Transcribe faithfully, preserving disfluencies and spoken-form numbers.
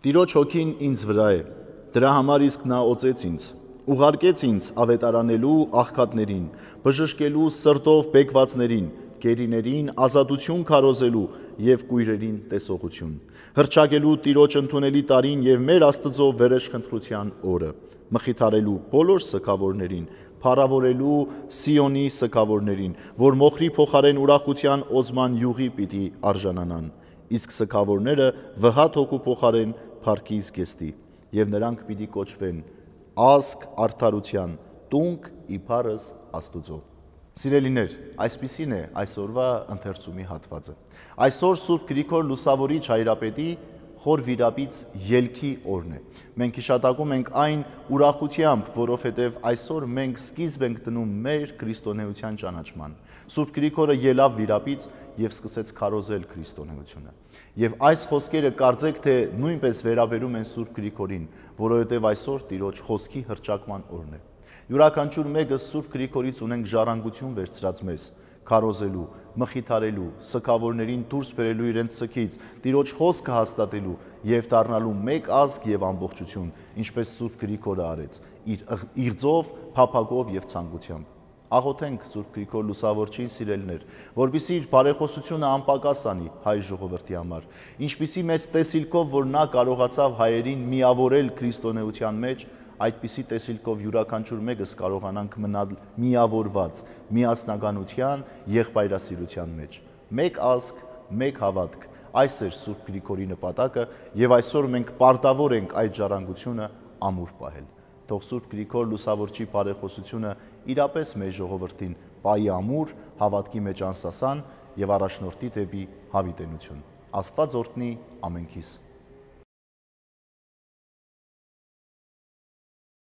Տիրոջ հոգին ինձ վրա է, դրա համար իսկ նա օծեց ինձ, ուղարկեց ինձ ավետարանելու աղքատներին, բժշկելու սրտով բեկվածներին, գերիներին ազատություն քարոզելու և կույրերին տեսողություն, հռչակելու Տիրոջ ընդունելի տարին և մեր Աստծո վերջխնդրության օրը, մխիթարելու բոլոր սգավորներին, փառավորելու Սիոնի սգավորներին, որ մոխրի փոխարեն ուրախության օծման յուղի պիտի արժանանան, իսկ սգավորները վհատ հոգու փոխարեն փառքի զգեստի, և նրանք պիտի կոչվեն ազգ արդարության, տունկ իբարս Աստուծո։ Սիրելիներ, այսպիսին է այսօրվա ընթերցումի հատվածը։ Այսօր Սուրբ Գրիգոր Լուսավորիչ հայրապետի խոր վիրապից ելքի օրն է։ Մենք հիշատակում ենք այն ուրախությամբ, որովհետև այսօր մենք սկիզբ ենք դնում մեր քրիստոնեության ճանաչման։ Սուրբ Գրիգորը ելավ վիրապից և սկսեց քարոզել քրիստոնեությունը։ Եվ այս խոսքերը կարծեք թե նույնպես վերաբերում են Սուրբ Գրիգորին, որովհետև այսօր Տիրոջ խոսքի հռչակման օրն է։ Յուրաքանչյուր մեկը Սուրբ Գրիգորից ունենք ժառանգություն վերցրած մեզ, քարոզելու, մխիթարելու, սգավորներին դուրս բերելու իրենց սգից, Տիրոջ խոսքը հաստատելու և դառնալու մեկ ազգ և ամբողջություն, ինչպես Սուրբ Գրիգորը արեց, իր իղձով, փափագով և ցանկությամբ։ Աղոթենք Սուրբ Գրիգոր Լուսավորչին, սիրելիներ, որպեսզի իր բարեխոսությունը անպակաս անի հայ ժողովրդի համար, ինչպիսի մեծ տեսիլքով, որ նա կարողացավ հայերին միավորել քրիստոնեության մեջ, այդպիսի տեսիլքով յուրաքանչյուր մեկս կարողանանք մնալ միավորված միասնականության, եղբայրասիրության մեջ։ Մեկ ազգ, մեկ հավատք, այս էր Սուրբ Գրիգորի նպատակը և այսօր մենք պարտավոր ենք այդ ժառանգությունը ամուր պահել։ Թող Սուրբ Գրիգոր Լուսավորչի բարեխոսությունը իրապես մեր ժողովրդին պահի ամուր, հավատքի մեջ անսասան և առաջնորդի դեպի հավիտենություն։ Աստված օրհնի ամենքիս։